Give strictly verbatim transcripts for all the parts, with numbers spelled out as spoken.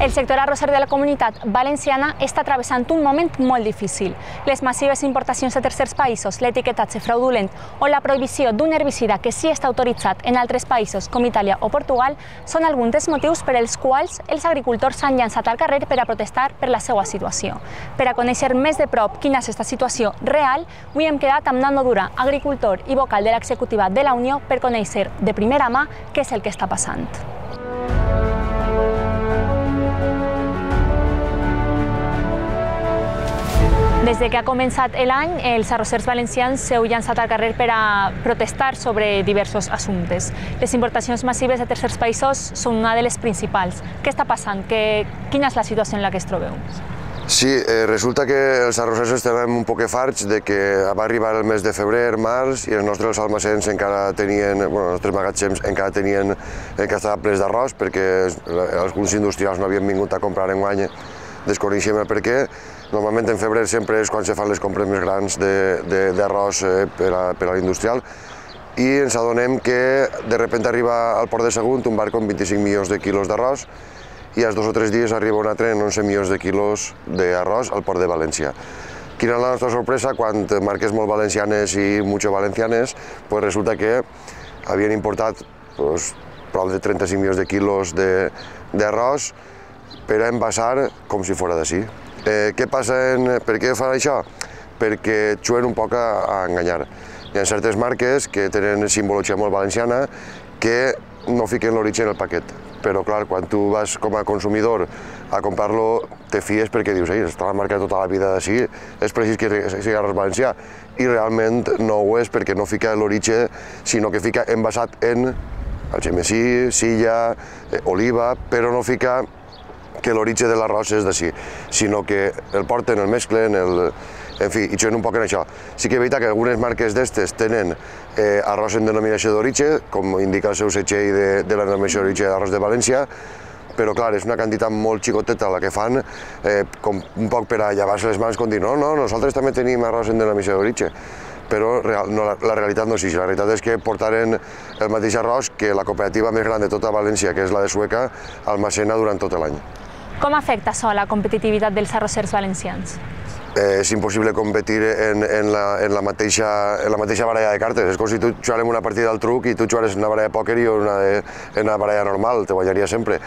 El sector arrosser de la Comunitat Valenciana està travessant un moment molt difícil. Les massives importacions de tercers països, l'etiquetatge fraudulent o la prohibició d'un herbicida que sí està autoritzat en altres països com Itàlia o Portugal són alguns dels motius per als quals els agricultors s'han llançat al carrer per a protestar per la seva situació. Per a conèixer més de prop quina és aquesta situació real, avui hem quedat amb Nando Dura, agricultor i vocal de l'executiva de la Unió, per conèixer de primera mà què és el que està passant. Des que ha començat l'any, els arrossers valencians s'heu llançat al carrer per a protestar sobre diversos assumptes. Les importacions massives de tercers països són una de les principals. Què està passant? Quina és la situació en la que es trobeu? Sí, eh, resulta que els arrossers estem un poc farts de que va arribar el mes de febrer, març, i els nostres almacens encara tenien, bueno, els nostres magatzems encara tenien, encara estaven plens d'arròs, perquè alguns industrials no havien vingut a comprar enguany, desconeixem el per què. Normalment en febrer sempre és quan se fan les compres més grans d'arròs per a l'industrial, i ens adonem que de repente arriba al port de Sagunt un barco amb vint-i-cinc milions de quilos d'arròs, i als dos o tres dies arriba un altre amb onze milions de quilos d'arròs al port de València. Quina és la nostra sorpresa? Quan marques molt valencianes i mucho valencianes, pues resulta que havien importat pues, prop de trenta-cinc milions de quilos d'arròs per a envasar com si fora d'ací. Eh, què passa? En, per què fan això? Perquè juguen un poc a, a enganyar. Hi ha certes marques que tenen simbologia molt valenciana que no fiquen l'origen en el paquet. Però clar, quan tu vas com a consumidor a comprar-lo, te fies perquè dius, ei, està la marca tota la vida d'ací, és precís que sigui arròs valencià. I realment no ho és, perquè no fica l'origen, sinó que fica envasat en algemesí, silla, eh, oliva, però no fica que l'origen de l'arròs és d'ací, sinó que el porten, el mesclen, el... en fi, i juguen un poc en això. Sí que és veritat que algunes marques d'estes tenen eh, arròs en denominació d'origen, com indica el seu setxell de, de la denominació d'origen d'arròs de València, però clar, és una quantitat molt xicoteta la que fan, eh, com un poc per a llevar-se les mans, com dir, no, no, nosaltres també tenim arròs en denominació d'origen. Però real, no, la, la realitat no és així. La realitat és que portaren el mateix arròs que la cooperativa més gran de tota València, que és la de Sueca, almacena durant tot l'any. Com afecta això a la competitivitat dels arrossers valencians? Eh, és impossible competir en, en, la, en, la mateixa, en la mateixa baralla de cartes. És com si tu jugarem una partida al truc i tu jugares una baralla de pòquer i una, de, una baralla normal, te guanyaria sempre.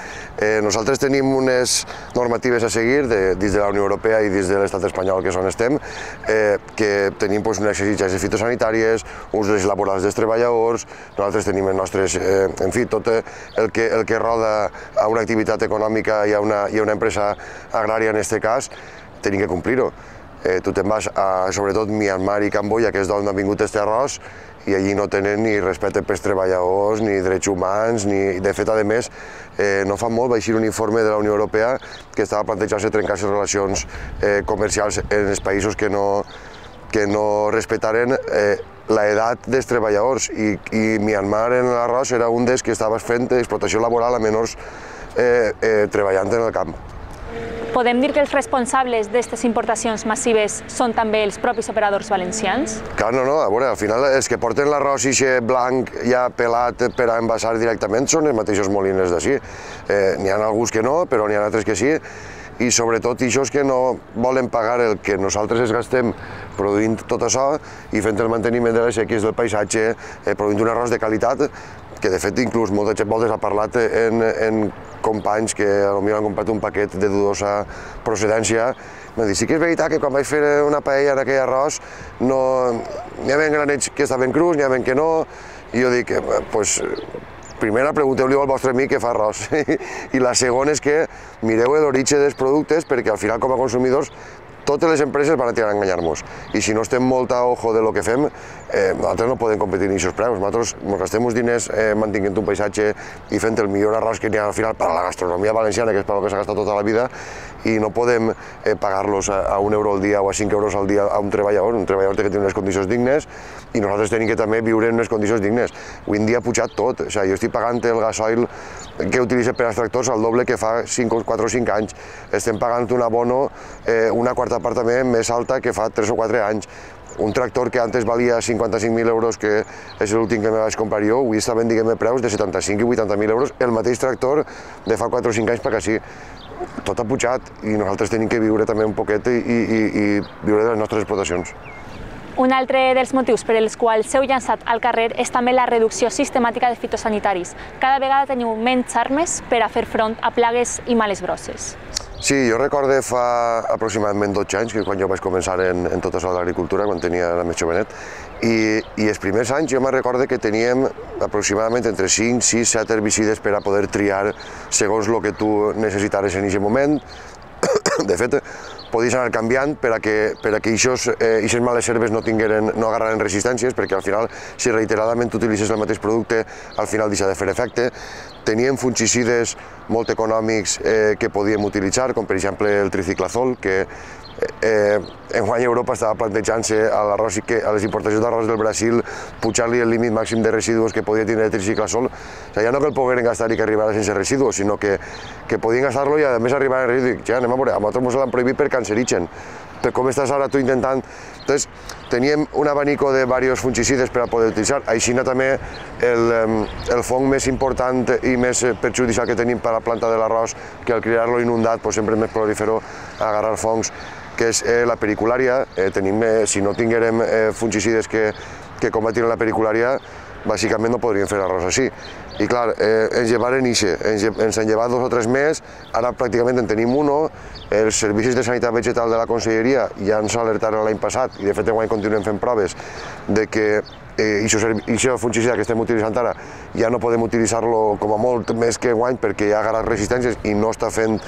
Eh, nosaltres tenim unes normatives a seguir de, dins de la Unió Europea i dins de l'estat espanyol, que és on estem, eh, que tenim pues, unes exigències fitosanitàries, uns drets laborals dels treballadors, nosaltres tenim els nostres, eh, en fi, tot el que, el que roda a una activitat econòmica i a una, i a una empresa agrària en aquest cas, tenim que complir-ho. Eh, tu te'n vas a, sobretot, Myanmar i Camboya, que és d'on ha vingut aquest arròs, i allí no tenen ni respecte pels treballadors, ni drets humans, ni... De fet, a més, eh, no fa molt va eixir un informe de la Unió Europea que estava plantejant-se trencar les relacions eh, comercials en els països que no, que no respectaren eh, l'edat dels treballadors, i, i Myanmar en l'arròs era un dels que estava fent explotació laboral a menors eh, eh, treballant en el camp. Podem dir que els responsables d'aquestes importacions massives són també els propis operadors valencians? Clar, no, no, a veure, al final els que porten l'arròs ixe blanc ja pelat per a envasar directament són els mateixos moliners d'ací. Eh, n'hi ha alguns que no, però n'hi ha altres que sí, i sobretot aquests que no volen pagar el que nosaltres es gastem produint tot això i fent el manteniment de les sequis del paisatge, eh, produint un arròs de qualitat, que de fet inclús moltes voltes ha parlat en, en companys que potser han comprat un paquet de dudosa procedència. M'han dit, sí que és veritat que quan vaig fer una paella en aquell arròs no... n'hi havia granets que estaven crus, n'hi havia que no, i jo dic, doncs, primera pregunteu-li al vostre amic que fa arròs, i la segona és que mireu l'origen dels productes, perquè al final com a consumidors totes les empreses van a tirar a enganyar-nos, i si no estem molt a ojo de lo que fem, eh, nosaltres no podem competir en aquests preus. Nosaltres ens gastem uns diners eh, mantinguent un paisatge i fent el millor arròs que n'hi ha al final per a la gastronomia valenciana, que és per al que s'ha gastat tota la vida, i no podem eh, pagar-los a, a un euro al dia o a cinc euros al dia a un treballador. Un treballador té que tenir unes condicions dignes i nosaltres tenim que també viure en unes condicions dignes. Avui en dia ha pujat tot. O sigui, jo estic pagant el gasoil que utilitza per als tractors al doble que fa quatre o cinc anys. Estem pagant un abono, eh, una quarta part també més alta que fa tres o quatre anys. Un tractor que antes valia cinquanta-cinc mil euros, que és l'últim que me vaig comprar jo, avui està venint preus de setanta-cinc i vuitanta mil euros, el mateix tractor de fa quatre o cinc anys perquè sí. tot ha pujat i nosaltres tenim que viure també un poquet i, i, i viure de les nostres explotacions. Un altre dels motius per als quals s'heu llançat al carrer és també la reducció sistemàtica de fitosanitaris. Cada vegada teniu menys armes per a fer front a plagues i males grosses. Sí, jo recorde fa aproximadament dotze anys, que quan jo vaig començar en, en tot això de l'agricultura, quan tenia la més jovenet, i, i els primers anys jo me recorde que teníem aproximadament entre cinc, sis, set herbicides per a poder triar segons el que tu necessitares en aquest moment. De fet, podies anar canviant per a que aquestes eh, males herbes no, tingueren, no agarraren resistències, perquè al final, si reiteradament utilitzes el mateix producte, al final deixa de fer efecte. Teníem fungicides molt econòmics eh, que podíem utilitzar, com per exemple el triciclazol, que eh, enguany Europa estava plantejant-se a, a les importacions d'arròs del Brasil pujar-li el límit màxim de residus que podia tenir el triciclazol. O sigui, ja no que el pogueren gastar i que arribara sense residus, sinó que, que podien gastar-lo i a més arribar a residus. Ja, anem a veure, a nosaltres ens l'han prohibit per cancerigen. Per com estàs ara tu intentant... Entonces, teníem un abanico de diversos fungicides per a poder utilitzar. Així també el, el fong més important i més perjudicial que tenim per a la planta de l'arròs, que al criar-lo inundat pues, sempre és més prolífero agarrar fongs, que és eh, la periculària. Eh, tenim, eh, si no tinguérem eh, fungicides que, que combatin la periculària, bàsicament no podríem fer arròs així. I clar, eh, ens llevaren ixe, ens, ens han llevat dos o tres més, ara pràcticament en tenim uno, els servicis de sanitat vegetal de la Conselleria ja ens alertaren l'any passat, i de fet enguany continuem fent proves, de que aquest fungicida que estem utilitzant ara ja no podem utilitzar-lo com a molt més que enguany perquè ja ha agarrat resistències i no està fent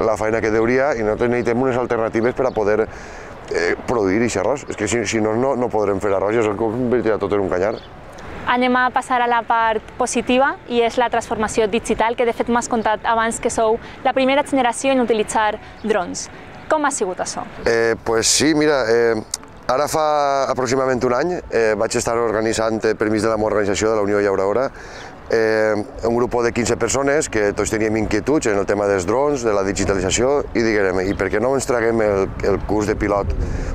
la feina que deuria, i nosaltres necessitem unes alternatives per a poder eh, produir aquest arròs. És que si, si no, no, no podrem fer arròs, ja es convertirà tot en un canyar. Anem a passar a la part positiva i és la transformació digital, que de fet m'has contat abans que sou la primera generació en utilitzar drons. Com ha sigut això? Eh, pues sí, mira, eh, ara fa aproximadament un any eh, vaig estar organitzant, per mig de la meva organització de la Unió Llauradora, eh, un grup de quinze persones que tots teníem inquietuds en el tema dels drons, de la digitalització, i diguem, i per què no ens traguem el, el curs de pilot?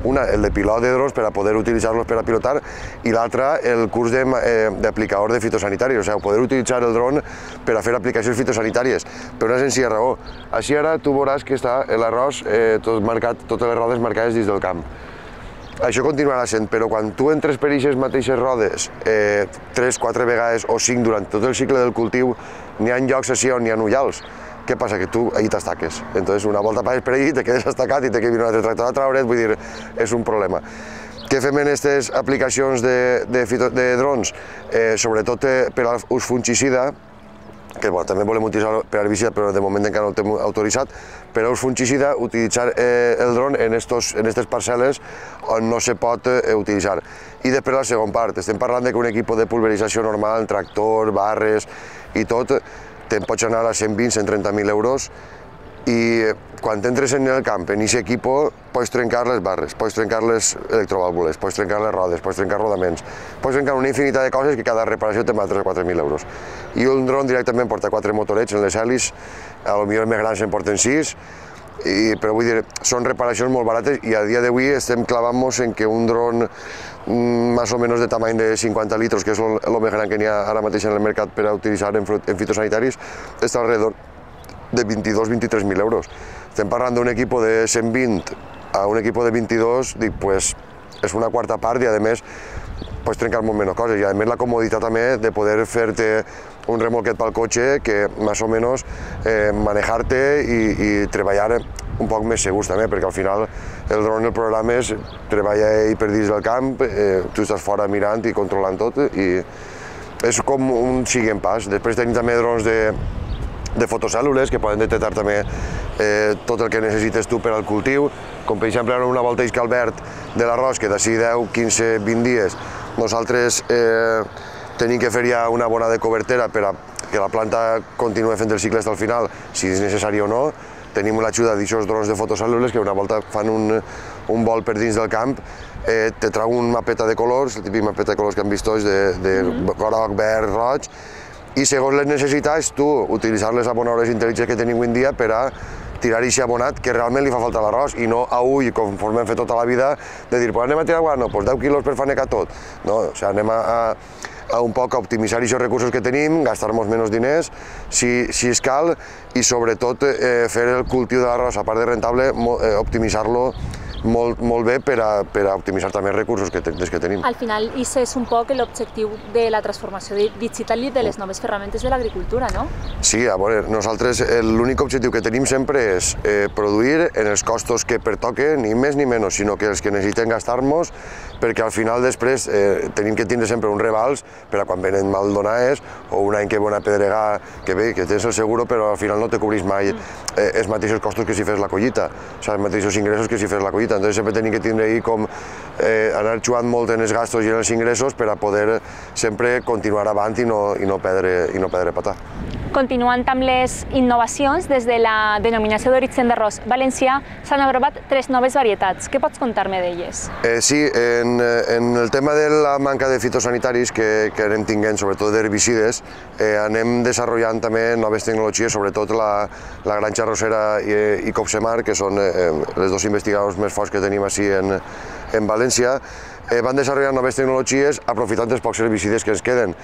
Una, el de pilot de drons per a poder utilitzar-los per a pilotar, i l'altra, el curs d'aplicador de, eh, de fitosanitaris, o sigui, poder utilitzar el dron per a fer aplicacions fitosanitàries, per una senzilla raó. Així ara tu veuràs que està l'arròs eh, tot marcat, totes les rodes marcades dins del camp. Això continuarà sent, però quan tu entres per aquestes mateixes rodes eh, tres, quatre vegades o cinc durant tot el cicle del cultiu, n'hi ha llocs així on n'hi ha ullals. Què passa? Que tu allí t'estaques. Entonces, una volta passes per allí, te quedes estacat i te que vine un altre tractor a traure't, vull dir, és un problema. Què fem en aquestes aplicacions de, de, fito, de drons? Eh, sobretot eh, per a l'ús fungicida, que bueno, també volem utilitzar per herbicida, però de moment encara no el tenim autoritzat, per a ús fungicida, utilitzar eh, el dron en aquestes parcel·les on no se pot eh, utilitzar. I després la segona part, estem parlant de que un equip de pulverització normal, tractor, barres i tot, te'n pots anar a cent vint a cent trenta mil euros, i quan entres en el camp, en aquest equip, pots trencar les barres, pots trencar les electrovàlvules, pots trencar les rodes, pots trencar rodaments, pots trencar una infinitat de coses que cada reparació te val tres o quatre mil euros. I un dron directament porta quatre motorets en les hèlis, a lo millor els més grans en porten sis, i, però vull dir, són reparacions molt barates, i a dia d'avui estem clavant-nos en que un dron més o menys de tamany de cinquanta litros, que és el més gran que n'hi ha ara mateix en el mercat per a utilitzar en, en fitosanitaris, està alrededor de vint-i-dos a vint-i-tres mil euros. Estem parlant d'un equip de cent vint a un equip de vint-i-dos, dic, pues, és una quarta part, i a més pots trencar molt menys coses, i a més la comoditat també de poder fer-te un remolquet pel cotxe que més o menys eh, manejar-te i, i treballar un poc més segurs també, perquè al final el dron, el programa és treballar ell per dins del camp, eh, tu estàs fora mirant i controlant tot, i és com un siguent pas. Després tenim també drons de de fotocèl·lules que poden detectar també eh, tot el que necessites tu per al cultiu, com per exemple una volta isca al verd de l'arròs, que d'ací deu, quinze, vint dies nosaltres eh, tenim que fer ja una bona de cobertera per a que la planta continuï fent el cicle fins al final, si és necessari o no. Tenim l'ajuda d'aquests drons de fotocèl·lules que una volta fan un, un vol per dins del camp, eh, te trau un mapeta de colors, el típic mapeta de colors que han vist tots, de, de groc, verd, roig, i segons les necessitats tu utilitzar les abonadores intel·ligents que tenim avui en dia per a tirar aquest abonat que realment li fa falta a l'arròs, i no a ull, conforme hem fet tota la vida, de dir, pues anem a tirar, bueno, pues deu quilos per fanecar tot. No, o sigui, anem a, a, a un poc a optimitzar aquests recursos que tenim, gastar-nos menys diners, si, si es cal, i sobretot eh, fer el cultiu de l'arròs, a part de rentable, eh, optimitzar-lo molt, molt bé per a, per a optimitzar també els recursos que, des que tenim. Al final, això és un poc l'objectiu de la transformació digital i de les noves ferramentes de l'agricultura, no? Sí, a veure, nosaltres l'únic objectiu que tenim sempre és eh, produir en els costos que pertoquen, ni més ni menys, sinó que els que necessitem gastar-nos, perquè al final després eh, tenim que tindre sempre un rebals per a quan venen mal donades o un any que ve una pedregada, que bé, que tens el seguro, però al final no te cobrís mai eh, els mateixos costos que si fes la collita, o sigui, els mateixos ingressos que si fes la collita. Entonces sempre tenim que tindre ahí com eh, anar jugant molt en els gastos i en els ingressos per a poder sempre continuar avant i no, i no perdre, i no perdre patar. Continuant amb les innovacions, des de la denominació d'origen d'arròs valencià s'han aprovat tres noves varietats. Què pots contar-me d'elles? Eh, sí, en, en el tema de la manca de fitosanitaris que, que anem tinguent, sobretot d'herbicides, eh, anem desenvolupant també noves tecnologies, sobretot la, la granja arrossera i, i Copsemar, que són eh, els dos investigadors més forts que tenim així en, en València, eh, van desenvolupar noves tecnologies aprofitant els pocs herbicides que ens queden.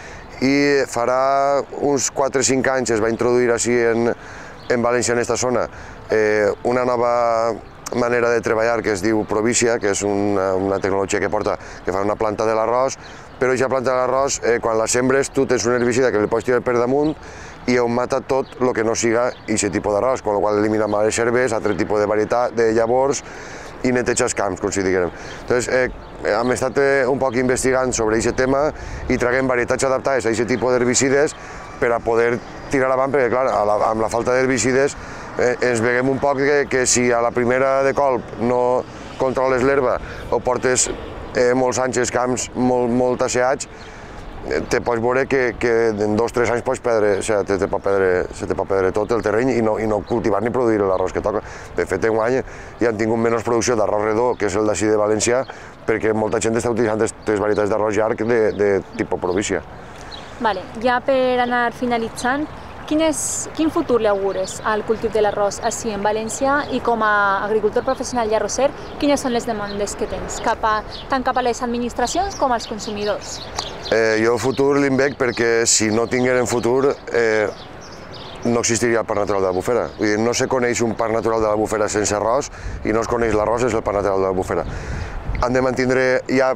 I farà uns quatre o cinc anys es va introduir així en, en València, en aquesta zona, eh, una nova manera de treballar que es diu Provícia, que és una, una tecnologia que porta, que fa una planta de l'arròs, però aquesta planta de l'arròs, eh, quan la sembres, tu tens un herbicida que li pots tirar per damunt i on mata tot el que no siga aquest tipus d'arròs, amb la qual elimina males herbes, altre tipus de varietat, de llavors, i neteja els camps, com si diguem. Entonces, eh, hem estat eh, un poc investigant sobre aquest tema i traguem varietats adaptades a aquest tipus d'herbicides per a poder tirar avant, perquè clar, la, amb la falta d'herbicides eh, ens veiem un poc que, que si a la primera de colp no controles l'herba o portes eh, molts anys els camps molt, molt asseats, te pots veure que, que en dos o tres anys pots perdre, o sigui, te, te pot perdre, se te pot perdre tot el terreny i no, i no cultivar ni produir l'arròs que toca. De fet, en un any ja han tingut menys producció d'arròs redó, que és el d'ací de València, perquè molta gent està utilitzant aquestes varietats d'arròs llarg de, de tipus Provícia. Vale, ja per anar finalitzant, quin, és, quin futur li augures al cultiu de l'arròs així en València i com a agricultor professional i arrosser, quines són les demandes que tens, cap a, tant cap a les administracions com als consumidors? Eh, jo el futur li'n veig perquè si no tingueren futur eh, no existiria el parc natural de l'Albufera. Vull dir, no se coneix un parc natural de l'Albufera sense arròs i no es coneix l'arròs sense el parc natural de l'Albufera. Han de mantenir ja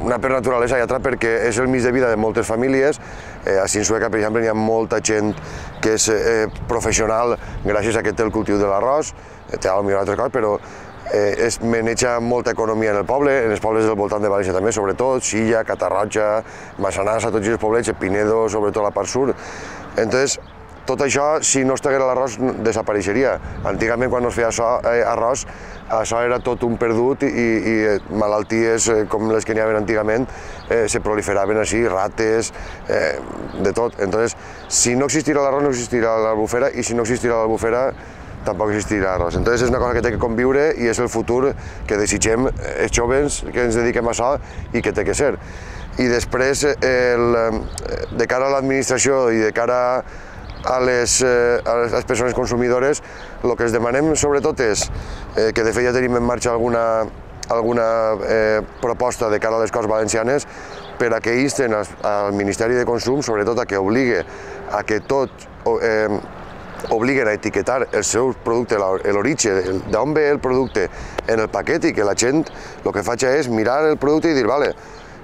una per naturalesa i altra perquè és el mig de vida de moltes famílies. Eh, a Sueca, per exemple, hi ha molta gent que és eh, professional gràcies a que té el cultiu de l'arròs, té potser altres coses, però Eh, es maneja molta economia en el poble, en els pobles del voltant de València també, sobretot, Silla, Catarroja, Massanassa, tots els poblets, Pinedo, sobretot la part sud. Entonces, tot això, si no estigués l'arròs, desapareixeria. Antigament, quan no es feia això, eh, arròs, això era tot un perdut i, i malalties eh, com les que n'hi havia antigament eh, se proliferaven així, rates, eh, de tot. Entonces, si no existirà l'arròs, no existirà l'Albufera, i si no existirà l'Albufera, tampoc existirà arròs. Entonces és una cosa que té que conviure i és el futur que desitgem els joves que ens dediquem a això i que té que ser. I després, el, de cara a l'administració i de cara a les, a les persones consumidores, el que els demanem sobretot és eh, que de fet ja tenim en marxa alguna, alguna eh, proposta de cara a les Corts Valencianes per a que insten al, al Ministeri de Consum, sobretot a que obligue a que tot eh, obliguen a etiquetar el seu producte, l'origen, d'on ve el producte en el paquet i que la gent el que faig és mirar el producte i dir, vale,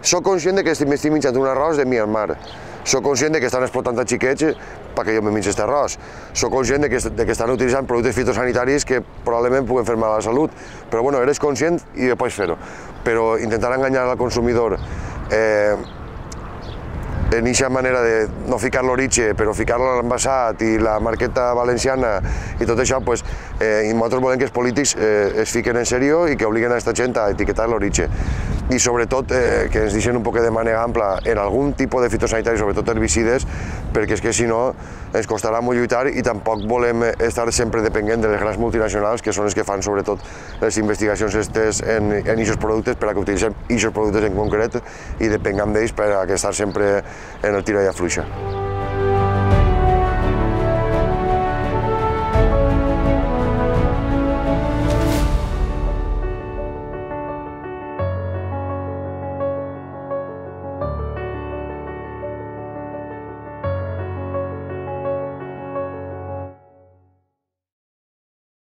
soc conscient que m'estic menjant un arròs de Myanmar, soc conscient que estan explotant a xiquets perquè jo me mengi aquest arròs, soc conscient que, que estan utilitzant productes fitosanitaris que probablement puguen fer mal a la salut, però bueno, eres conscient i pots fer-ho. Però intentar enganyar al consumidor eh, en aquesta manera de no ficar l'origen, però ficar-lo a l'envasat i la marqueta valenciana i tot això, pues, eh, i nosaltres volem que els polítics eh, es fiquen en sèrio i que obliguen a aquesta gent a etiquetar l'origen. I sobretot eh, que ens deixen un poc de manera ampla en algun tipus de fitosanitari, sobretot herbicides, perquè és que si no ens costarà molt lluitar i tampoc volem estar sempre depenent de les grans multinacionals que són les que fan sobretot les investigacions estes en aquests productes per a que utilitzem aquests productes en concret i depengam d'ells per a estar sempre en el tira i afluixa.